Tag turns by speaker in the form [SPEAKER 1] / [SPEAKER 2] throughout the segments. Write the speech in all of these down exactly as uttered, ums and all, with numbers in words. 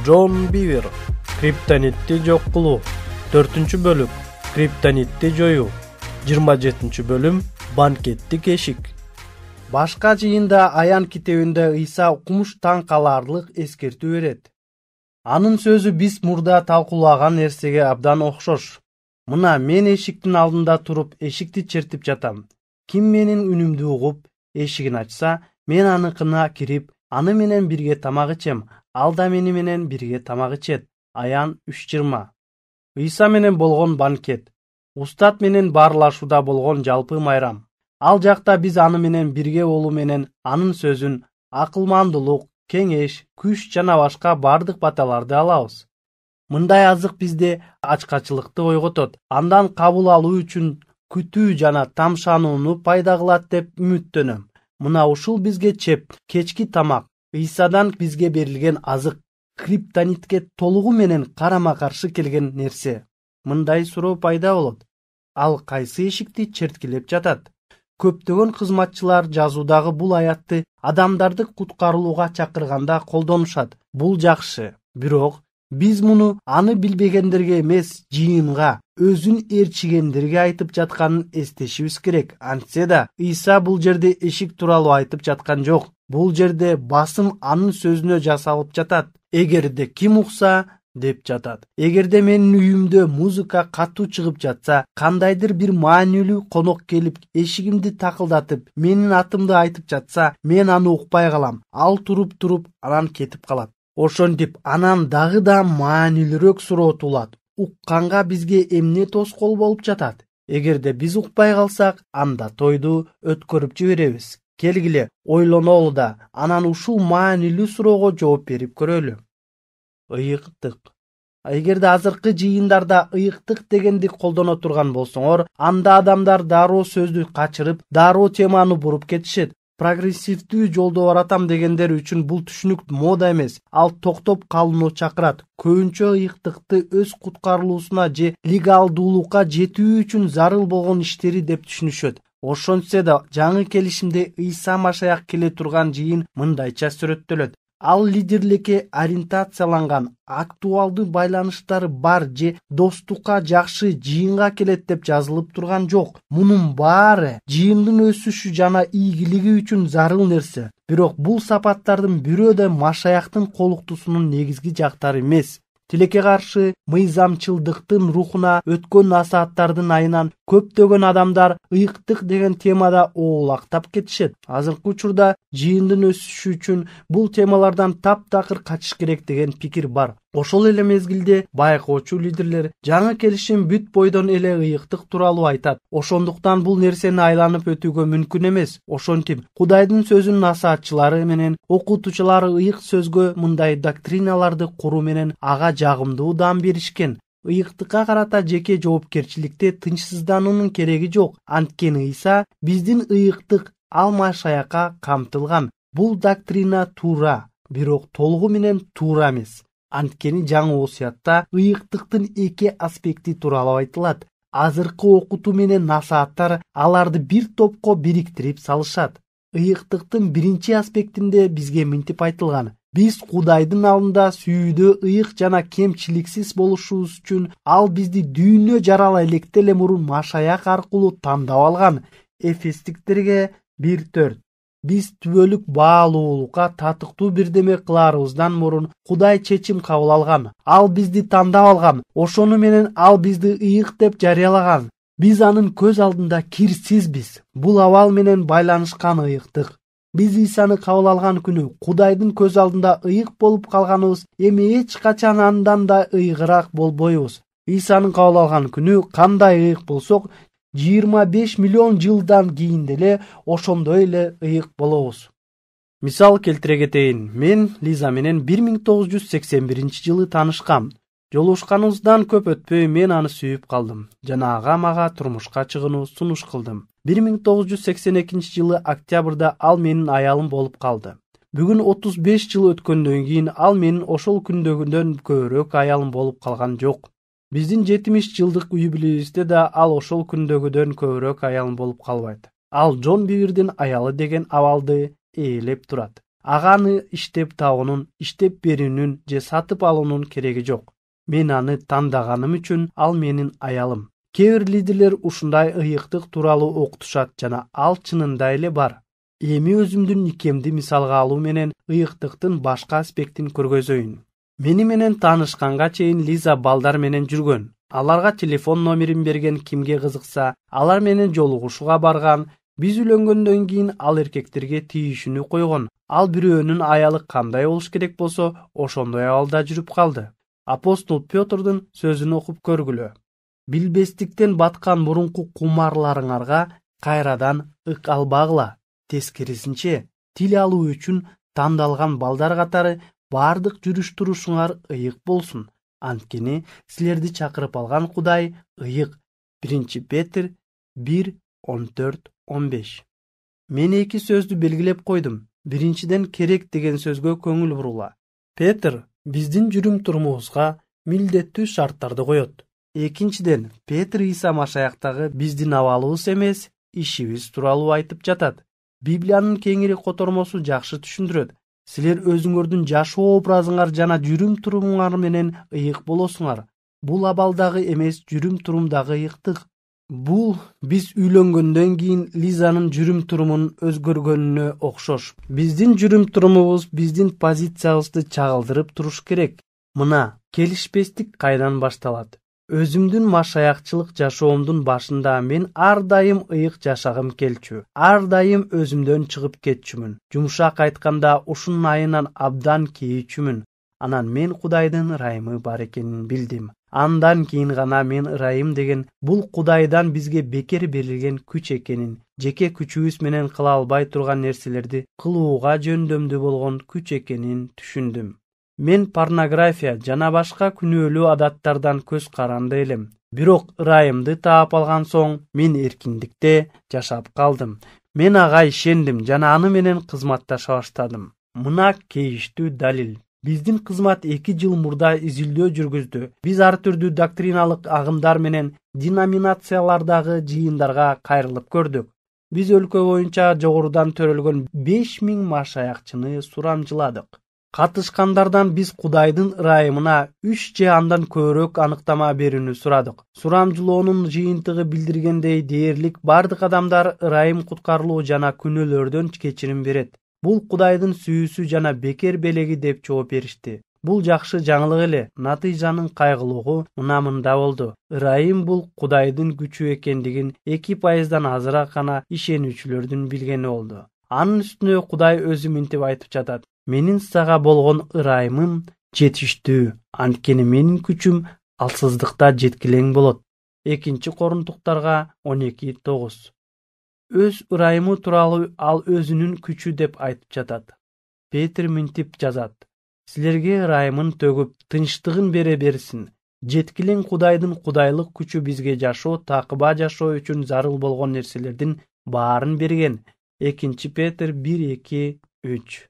[SPEAKER 1] Джон Бивер. Криптонитти жок кылуу. төртүнчү бөлүк. Криптонитти жоюу. жыйырма жетинчи бөлүм. Банкеттик эшик. Башка жыйында Аян китебинде Ыйса укмуш таң каларлык эскертүү берет. Анын сөзү биз мурда талкуулаган нерсеге абдан окшош. Мына мен эшиктин алдында туруп эшикти чертип жатам. Ким менин үнүмдү угуп эшигин ачса, мен аныкына кирип, аны менен бирге тамак ичем, ал да мени менен бирге тамак ичет. Аян үч жыйырма. Ыйса менен болгон банкет. Устат менен баарлашууда болгон жалпы майрам. Ал жакта биз аны менен бирге болуу менен анын сөзүн, акылмандуулук, кеңеш, күч жана башка бардык баталарды алабыз. Мындай азык бизде ачкачылыкты ойготот, андан кабыл алуу үчүн күтүү жана тамшанууну пайда кылат деп үмүттөнөм. Мына ушул бизге чеп, кечки тамак, Ыйсадан бизге берилген азык, криптонитке толугу менен карама-каршы келген нерсе. Мындай суроо пайда болот. Ал кайсы эшикти черткилеп жатат? Көптөгөн кызматчылар жазуудагы бул аятты адамдарды куткарылууга чакырганда колдонушат. Бул жакшы, бирок биз муну аны билбегендерге эмес, жыйынга, өзүн ээрчигендерге айтып жатканын эстешибиз керек. Антсе да Ыйса бул жерде эшик тууралуу айтып жаткан жок. Бул жерде басым анын сөзүнө жасалып жатат. Эгерде ким укса деп жатат. Эгерде менин үйүмдө музыка катуу чыгып жатса, кандайдыр бир маанилүү конок келип эшигимди такылдатып, менин атымды айтып жатса, мен аны укпай калам. Ал туруп-туруп анан кетип калат. Ошентип анан дагы да маанилүүрөөк суроо туулат. Укканга бизге эмне тоскоол болуп жатат? Эгерде биз укпай калсак, анда тойду өткөрүп жиберебиз. Келгиле, ойлонолу да, анан ушул маанилүү суроого жооп берип көрөлү. Ыйыктык. Эгерде азыркы жыйындарда ыйыктык дегенди колдоно турган болсоңор, анда адамдар дароо сөздү качырып, дароо теманы буруп кетишет. Прогрессивдүү жолдо баратам дегендер үчүн бул түшүнүк мода эмес. Ал токтоп калууну чакырат. Көбүнчө ыйыктыкты өз куткарылуусуна же легалдуулукка жетүү үчүн зарыл болгон иштери деп түшүнүшөт. Ошентсе да жаңы келишимде Ыйса Машаяк келе турган жыйын мындайча сүрөттөлөт. Ал лидерликке ориентацияланган, актуалдуу байланыштары бар же достукка жакшы жыйынга келет деп жазылып турган жок. Мунун баары жыйындын өсүшү жана ийгилиги үчүн зарыл нерсе. Бирок бул сапаттардын бирөө да Машаяктын колуктуусунун негизги жактары эмес. Тилекке каршы мыйзамчылдыктын рухуна өткөн насааттардын айынан көптөгөн адамдар ыйыктык деген темада оолактап кетишет. Азыркы учурда жыйындын өсүшү үчүн бул темалардан таптакыр качыш керек деген пикир бар. Ошол эле мезгилде байкоочу лидерлер жаңы келишим бүт бойдон эле ыйыктык тууралуу айтат. Ошондуктан бул нерсени айланып өтүүгө мүмкүн эмес. Ошентип, Кудайдын сөзүнүн насаатчылары менен окутуучулары ыйык сөзгө мындай доктриналарды куруу менен ага жагымдуу даам беришкен. Ыйыктыкка карата жеке жоопкерчиликте тынчсыздануунун кереги жок. Анткени Ыйса биздин ыйыктык ал Машаякка камтылган. Бул доктрина туура, бирок толугу менен туура эмес. Анткени жаңы осуятта ыйыктыктын эки аспекти тууралуу айтылат. Азыркы окутуу менен насааттар аларды бир топко бириктирип салышат. Ыйыктыктын биринчи аспектинде бизге мынтип айтылган: биз Кудайдын алдында сүйүүдө ыйык жана кемчиликсиз болушубуз үчүн ал бизди дүйнө жарала электе эле мурун Машаяк аркылуу тандап алган. Эфестиктерге бир төрт. Биз түбөлүк баалуулукка татыктуу бирдеме кылаарыбыздан мурун Кудай чечим кабыл алган. Ал бизди тандап алган. Ошону менен ал бизди ыйык деп жарыялаган. Биз анын көз алдында кирсизбиз. Бул абал менен байланышкан ыйыктык. Биз Ыйсаны кабыл алган күнү Кудайдын көз алдында ыйык болуп калганыбыз эми эч качан андан да ыйыгыраак болбойбуз. Ыйсаны кабыл алган күнү кандай ыйык болсок, жыйырма беш миллион жылдан кийин деле ошондой эле ыйык болобуз. Мисал келтире кетейин. Мен Лиза менен бир миң тогуз жүз сексен биринчи жылы таанышкам. Жолугушканыбыздан көп өтпөй мен аны сүйүп калдым жана ага мага турмушка чыгууну сунуш кылдым. бир миң тогуз жүз сексен экинчи жылы октябрда ал менин аялым болуп калды. Бүгүн отуз беш жыл өткөндөн кийин ал менин ошол күндөгүнөн көбүрөөк аялым болуп калган жок. Биздин жетимиш жылдык юбилейибизде да ал ошол күндөгүдөн көбүрөөк аялым болуп калбайт. Ал Джон Бивердин аялы деген абалды ээлеп турат. Ага аны иштеп табуунун, иштеп берүүнүн же сатып алуунун кереги жок. Мен аны тандаганым үчүн ал менин аялым. Кээ бир лидерлер ушундай ыйыктык тууралуу окутушат жана ал чынында эле бар. Эми өзүмдүн никемди мисалга алуу менен ыйыктыктын башка аспектин көргөзөйүн. Мени менен таанышканга чейин Лиза балдар менен жүргөн. Аларга телефон номерин берген, кимге кызыкса, алар менен жолугушууга барган. Биз үйлөнгөндөн кийин ал эркектерге тийишүүнү койгон. Ал бирөөнүн аялы кандай болуш керек болсо, ошондой абалда жүрүп калды. Апостол Пётрдун сөзүн окуп көргүлө. Билбестиктен баткан мурунку кумарларыңарга кайрадан ык албагыла. Тескерисинче, тил алуу үчүн тандалган балдар катары бардык жүрүш-турушуңар ыйык болсун. Анткени силерди чакырып алган Кудай ыйык. биринчи Петр бир он төрт он беш. Мен эки сөздү белгилеп койдум. Биринчиден, керек деген сөзгө көңүл бурула. Петр биздин жүрүм-турумубузга милдеттүү шарттарды коет. Экинчиден, Петр Иса Машаяктагы биздин абалыбыз эмес, ишибиз тууралуу айтып жатат. Библиянын кеңири котормосу жакшы түшүндүрөт. Силер өзүңөрдүн жашоо образыңар жана жүрүм-турумуңар менен ыйык болосуңар. Бул абалдагы эмес, жүрүм-турумдагы ыйыктык. Бул биз үйлөнгөндөн кийин Лизанын жүрүм-турумунун өзгөргөнүнө окшош. Биздин жүрүм-турумубуз биздин позициябызды чагылдырып туруш керек. Мына, келишпестик кайдан башталат? Өзүмдүн машаякчылык жашоомдун башында мен ар дайым ыйык жашагым келчү. Ар дайым өзүмдөн чыгып кетчүмүн. Жумшак айтканда ушунун айынан абдан кейичүмүн. Анан мен Кудайдын ырайымы бар экенин билдим. Андан кийин гана мен ырайым деген бул Кудайдан бизге бекер берилген күч экенин, жеке күчүбүз менен кыла албай турган нерселерди кылууга жөндөмдүү болгон күч экенин түшүндүм. Мен порнография жана башка күнөөлүү адаттардан көз каранды элем. Бирок ырайымды таап алган соң мен эркиндикте жашап калдым. Мен ага ишендим жана аны менен кызматташа баштадым. Мына кейиштүү далил. Биздин кызмат эки жыл мурда изилдөө жүргүздү. Биз ар түрдүү доктриналык агымдар менен деноминациялардагы жыйындарга кайрылып көрдүк. Биз өлкө боюнча жогорудан төрөлгөн беш миң машаякчыны сурамжыладык. Катышкандардан биз Кудайдын ырайымына үч же андан көбүрөөк аныктама берүүнү сурадык. Сурамжылоонун жыйынтыгы билдиргендей, дээрлик бардык адамдар ырайым куткарылуу жана күнөөлөрдөн кечирим берет. Бул Кудайдын сүйүүсү жана бекер белеги деп жооп беришти. Бул жакшы жаңылык эле. Натыйжанын кайгылуугу мына мында болду. Ырайым бул Кудайдын күчү экендигин эки пайыздан азыраак гана ишенүүчүлөрдүн билгени болду. Анын үстүнө Кудай өзү мынтип айтып жатат: менин сага болгон ырайымым жетиштүү, анткени менин күчүм алсыздыкта жеткилең болот. экинчи Корунтуктарга он эки тогуз. Өз ырайымы тууралуу ал өзүнүн күчү деп айтып жатат. Петр мынтип жазат: силерге ырайымын төгүп, тынчтыгын бере берсин. Жеткилең Кудайдын кудайлык күчү бизге жашоо, такыба жашоо үчүн зарыл болгон нерселердин баарын берген. экинчи Петр бир эки үч.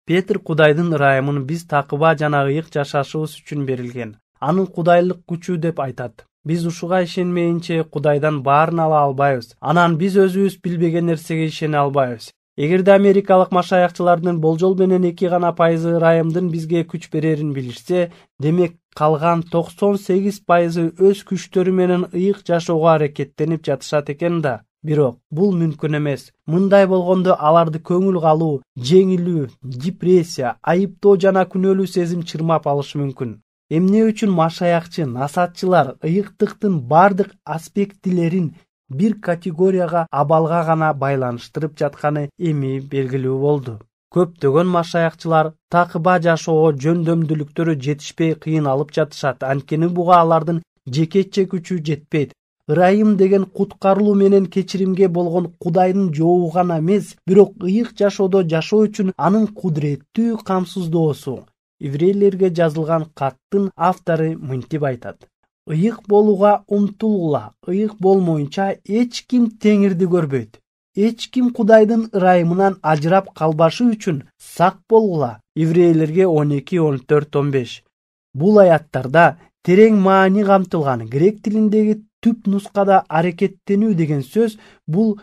[SPEAKER 1] Петр Кудайдын ырайымын биз такыба жана ыйык жашашыбыз үчүн берилген. Анын кудайлык күчү деп айтат. Биз ушуга ишенмейинче Кудайдан баарын ала албайбыз. Анан биз өзүбүз билбеген нерсеге ишене албайбыз. Эгерде америкалык машаякчылардын болжол менен эки гана пайызы ырайымдын бизге күч берерин билишсе, демек калган токсон сегиз пайызы өз күчтөрү менен ыйык жашоого аракеттенип жатышат экен да. Бирок бул мүмкүн эмес. Мындай болгондо аларды көңүл калуу, жеңилүү, депрессия, айыптоо жана күнөөлүү сезим чырмап алышы мүмкүн. Эмне үчүн машаякчы, насаатчылар ыйыктыктын бардык аспектилерин бир категорияга, абалга гана байланыштырып жатканы эми белгилүү болду. Көптөгөн машаякчылар такыба жашоого жөндөмдүүлүктөрү жетишпей кыйналып жатышат, анткени буга алардын жекече күчү жетпейт. Ырайым деген куткарылуу менен кечиримге болгон Кудайдын жообу гана эмес, бирок ыйык жашоодо жашоо үчүн анын кудуреттүү камсыздоосу. Еврейлерге жазылган каттын автору мынтип айтат: ыйык болууга умтулгула, ыйык болмоюнча эч ким теңирди көрбөйт. Эч ким Кудайдын ырайымынан ажырап калбашы үчүн сак болгула. Еврейлерге он эки он төрт он беш. Бул аяттарда терең маани камтылган. Грек тилиндеги түп нускада аракеттенүү деген сөз бул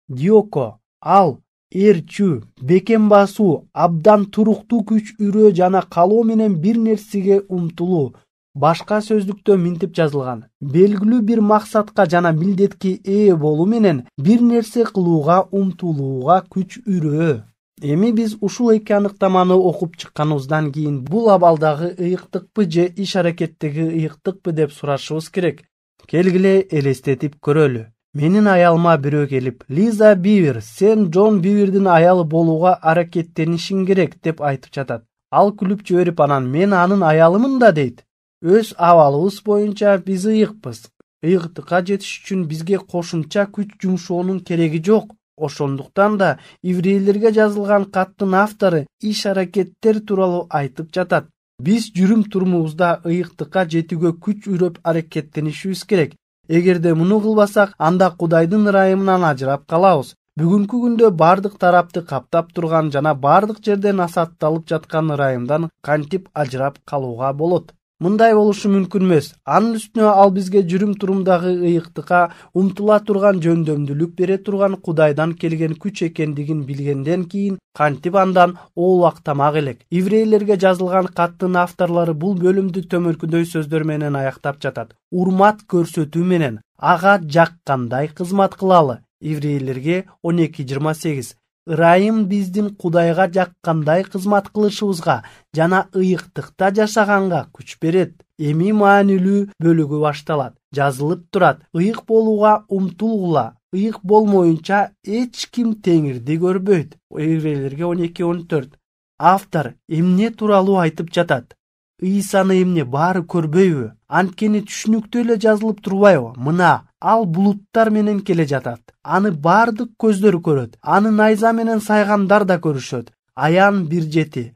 [SPEAKER 1] диоко, ал Эрчүү, бекем басуу, абдан туруктуу күч үрөө жана калоо менен бир нерсеге умтулуу. Башка сөздүктө мынтип жазылган: белгилүү бир максатка жана милдетке ээ болуу менен бир нерсе кылууга умтулууга күч үрөө. Эми биз ушул эки аныктаманы окуп чыкканыбыздан кийин бул абалдагы ыйыктыкпы же иш аракеттеги ыйыктыкпы деп сурашыбыз керек. Келгиле элестетип көрөлү. Менин аялыма бирөө келип, Лиза Бивер, сен Джон Бивердин аялы болууга аракеттенишиң керек деп айтып жатат. Ал күлүп жиберип анан мен анын аялымын да дейт. Өз абалыбыз боюнча биз ыйыкпыз. Ыйыктыкка жетиш үчүн бизге кошумча күч жумшоонун кереги жок. Ошондуктан да еврейлерге жазылган каттын автору иш аракеттер тууралуу айтып жатат. Биз жүрүм турумубузда ыйыктыкка жетүүгө күч үрөп аракеттенишибиз керек. Эгерде муну кылбасак, анда Кудайдын ырайымынан ажырап калабыз. Бүгүнкү күндө бардык тарапты каптап турган жана бардык жерде насаатталып жаткан ырайымдан кантип ажырап калууга болот? Мындай болушу мүмкүн эмес. Анын үстүнө ал бизге жүрүм турумдагы ыйыктыкка умтула турган жөндөмдүүлүк бере турган Кудайдан келген күч экендигин билгенден кийин кантип андан оолактамак элек? Еврейлерге жазылган каттын авторлору бул бөлүмдү төмөнкүдөй сөздөр менен аяктап жатат. Урмат көрсөтүү менен ага жаккандай кызмат кылалы. Еврейлерге он эки жыйырма сегиз. Ырайым биздин Кудайга жаккандай кызмат кылышыбызга жана ыйыктыкта жашаганга күч берет. Эми маанилүү бөлүгү башталат. Жазылып турат: ыйык болууга умтулгула. Ыйык болмоюнча эч ким Теңирди көрбөйт. Еврейлерге он эки он төрт. Автор эмне тууралуу айтып жатат? Ыйсаны эмне баары көрбөйбү? Анткени түшүнүктүү эле жазылып турбайбы? Мына ал булуттар менен келе жатат. Аны бардык көздөр көрөт. Аны найза менен сайгандар да көрүшөт. Аян бир жети.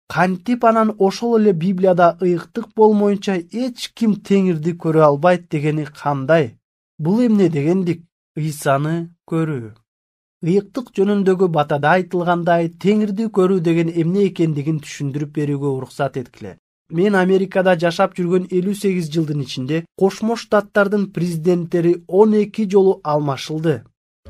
[SPEAKER 1] Кантип анан ошол эле Библияда ыйыктык болмоюнча эч ким Теңирди көрө албайт дегени кандай? Бул эмне дегендик? Ыйсаны көрүү. Ыйыктык жөнүндөгү батада айтылгандай, Теңирди көрүү деген эмне экендигин түшүндүрүп берүүгө уруксат эткиле. Мен Америкада жашап жүргөн элүү сегиз жылдын ичинде Кошмо Штаттардын президенттери он эки жолу алмашылды.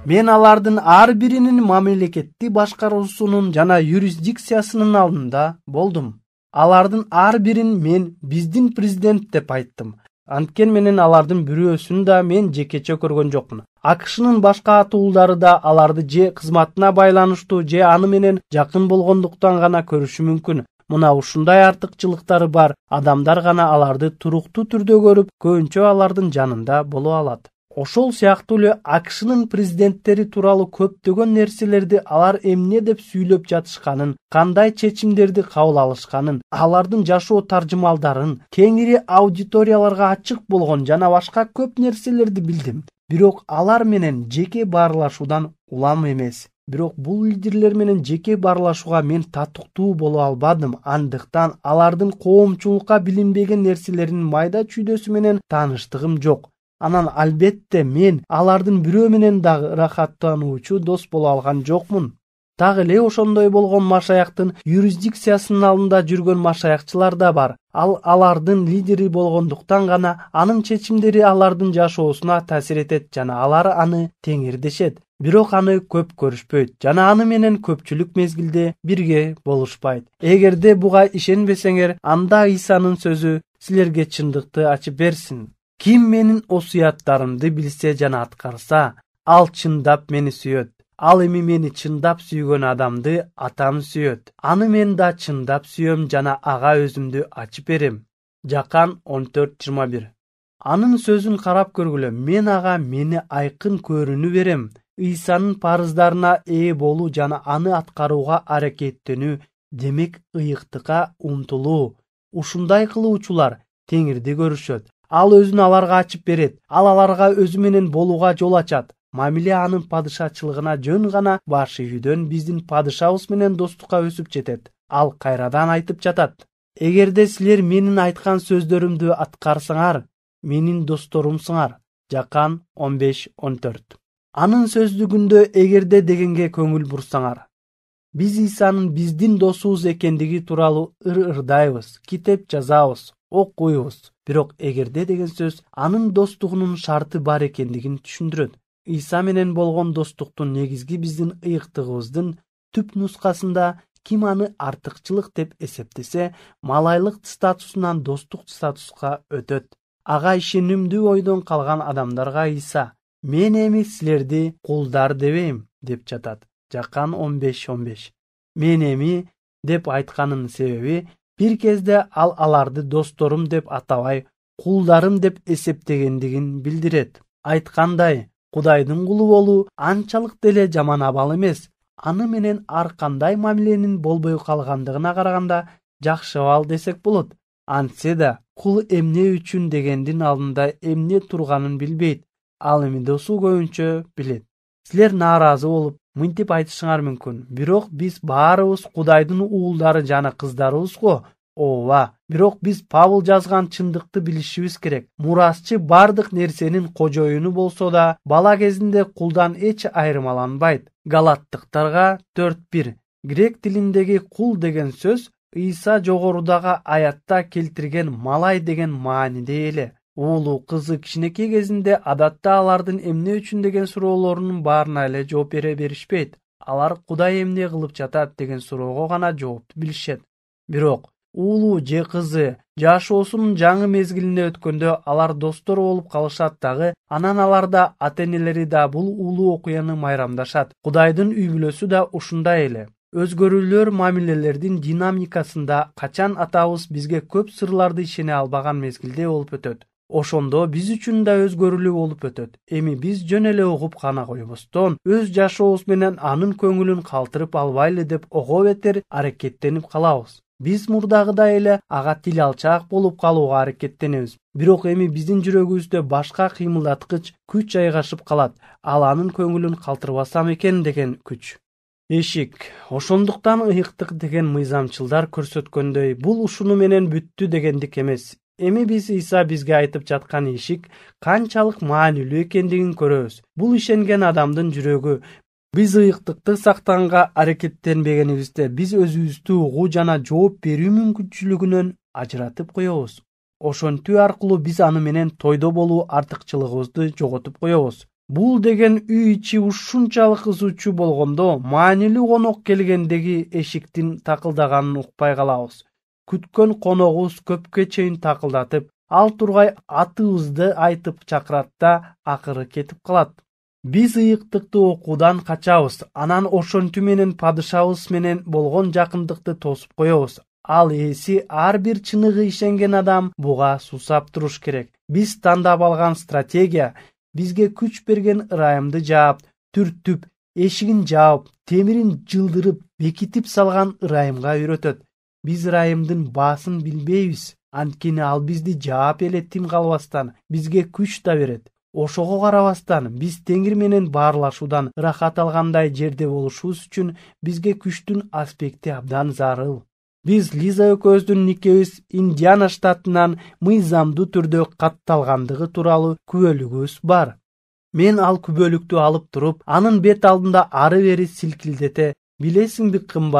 [SPEAKER 1] Мен алардын ар биринин мамлекетти башкаруусунун жана юрисдикциясынын алдында болдум. Алардын ар бирин мен биздин президент деп айттым. Анткени менен алардын бирөөсүн да мен жекече көргөн жокмун. АКШнын башка атуулдары да аларды же кызматына байланыштуу же аны менен жакын болгондуктан гана көрүшү мүмкүн. Мына ушундай артыкчылыктары бар адамдар гана аларды туруктуу түрдө көрүп, көбүнчө алардын жанында боло алат. Ошол сыяктуу эле АКШнын президенттери тууралуу көптөгөн нерселерди алар эмне деп сүйлөп жатышканын, кандай чечимдерди кабыл алышканын, алардын жашоо таржымалдарын, кеңири аудиторияларга ачык болгон жана башка көп нерселерди билдим. Бирок алар менен жеке баарлашуудан улам эмес. Бирок бул лидерлер менен жеке баарлашууга мен татыктуу боло албадым. Андыктан алардын коомчулукка билинбеген нерселеринин майда чүйдөсү менен тааныштыгым жок. Анан албетте мен алардын бирөө менен дагы ырахаттануучу дос боло алган жокмун. Так эле ошондой болгон машаяктын юрисдикциясынын алдында жүргөн машаякчылар да бар. Ал алардын лидери болгондуктан гана анын чечимдери алардын жашоосуна таасир этет жана алар аны Теңир дешет. Бирок аны көп көрүшпөйт жана аны менен көпчүлүк мезгилде бирге болушпайт. Эгерде буга ишенбесеңер, анда Ыйсанын сөзү силерге чындыкты ачып берсин. Ким менин осуяттарымды билсе жана аткарса, ал чындап мени сүйөт. Ал эми мени чындап сүйгөн адамды атам сүйөт. Аны мен да чындап сүйөм жана ага өзүмдү ачып берем. Жакан он төрт жыйырма бир. Анын сөзүн карап көргүлө, мен ага мени айкын көрүүнү берем. Ыйсанын парыздарына ээ болуу жана аны аткарууга аракеттенүү, демек ыйыктыкка умтулуу. Ушундай кылуучулар Теңирди көрүшөт. Ал өзүн аларга ачып берет. Ал аларга өзү менен болууга жол ачат. Мамиле анын падышачылыгына жөн гана баш ийүүдөн биздин падышабыз менен достукка өсүп жетет. Ал кайрадан айтып жатат: эгерде силер менин айткан сөздөрүмдү аткарсаңар, менин досторумсуңар. Жакан он беш он төрт. Анын сөздүгүндө эгерде дегенге көңүл бурсаңар. Биз Ыйсанын биздин досубуз экендиги тууралуу ыр-ырдайбыз, китеп жазабыз, окуйбуз. Бирок эгерде деген сөз анын достугунун шарты бар экендигин түшүндүрөт. Ыйса менен болгон достуктун негизги биздин ыйыктыгыбыздын түп нускасында ким аны артыкчылык деп эсептесе, малайлык статусунан достук статуска өтөт. Ага ишенимдүү ойдон калган адамдарга Ыйса «Мен эми силерди кулдар дебейм» деп жатат. Жакан он беш он беш. «Мен эми» деп айтканынын себеби бир кезде ал аларды досторум деп атабай, кулдарым деп эсептегендигин билдирет. Айткандай, Кудайдын кулу болуу анчалык деле жаман абал эмес. Аны менен ар кандай мамиленин болбой калгандыгына караганда жакшы абал десек болот. Антсе да кул эмне үчүн дегендин алдында эмне турганын билбейт. Ал эми досу көбүнчө билет. Силер нааразы болуп, мынтип айтышыңар мүмкүн. Бирок биз баарыбыз Кудайдын уулдары жана кыздарыбыз го. Ооба, бирок биз Павыл жазган чындыкты билишибиз керек. Мурасчы бардык нерсенин кожоюну болсо да, бала кезинде кулдан эч айырмаланбайт. Галаттыктарга төрт бир. Грек тилиндеги кул деген сөз Ыйса жогорудагы аятта келтирген малай деген мааниде эле. Уулу кызы кичинекей кезинде адатта алардын эмне үчүн деген суроолорунун баарына эле жооп бере беришпейт. Алар Кудай эмне кылып жатат деген суроого гана жоопту билишет. Бирок уулу же кызы жашоосунун жаңы мезгилине өткөндө алар достор болуп калышат дагы, анан аларда ата-энелери да бул уулуу окуяны майрамдашат. Кудайдын үй бүлөсү да ушундай эле. Өзгөрүүлөр мамилелердин динамикасында качан атабыз бизге көп сырларды ишене албаган мезгилде болуп өтөт. Ошондо биз үчүн да өзгөрүүлүү болуп өтөт. Эми биз жөн эле угуп гана койбостон, өз жашообуз менен анын көңүлүн калтырып албайлы деп ого бетер аракеттенип калабыз. Биз мурдагыдай эле ага тил алчаак болуп калууга аракеттенебиз. Бирок эми биздин жүрөгүбүздө башка кыймылдаткыч күч жайгашып калат. Ал анын көңүлүн калтырбасам экен деген күч. Эшик. Ошондуктан ыйыктык деген мыйзамчылдар көрсөткөндөй, бул ушуну менен бүттү дегендик эмес. Эми биз Ыйса бизге айтып жаткан эшик канчалык маанилүү экендигин көрөбүз. Бул ишенген адамдын жүрөгү. Биз ыйыктыкты сактаганга аракеттенбегенибизде биз өзүбүздү угуу жана жооп берүү мүмкүнчүлүгүнөн ажыратып коебуз. Ошентүү аркылуу биз аны менен тойдо болуу артыкчылыгыбызды жоготуп коебуз. Бул деген үй ичи ушунчалык ызуучу болгондо, маанилүү конок келгендеги эшиктин такылдаганын укпай калабыз. Күткөн коногубуз көпкө чейин такылдатып, ал тургай атыбызды айтып чакырат да акыры кетип калат. Биз ыйыктыкты окуудан качабыз, анан ошентүү менен падышабыз менен болгон жакындыкты тосуп коебуз. Ал ээси ар бир чыныгы ишенген адам буга суусап туруш керек. Биз тандап алган стратегия бизге күч берген ырайымды жаап, түртүп, эшигин жаап, темирин жылдырып, бекитип салган ырайымга үйрөтөт. Биз ырайымдын баасын билбейбиз. Анткени ал бизди жаап эле тим калбастан, бизге күч да берет. Ошого карабастан, биз Теңир менен баарлашуудан ырахат алгандай жерде болушубуз үчүн бизге күчтүн аспекти абдан зарыл. Биз Лиза экөөбүздүн никебиз Индиана штатынан мыйзамдуу түрдө катталгандыгы тууралуу күбөлүгүбүз бар. Мен ал күбөлүктү алып туруп, анын бет алдында ары бери силкилдете, билесиңби кымбат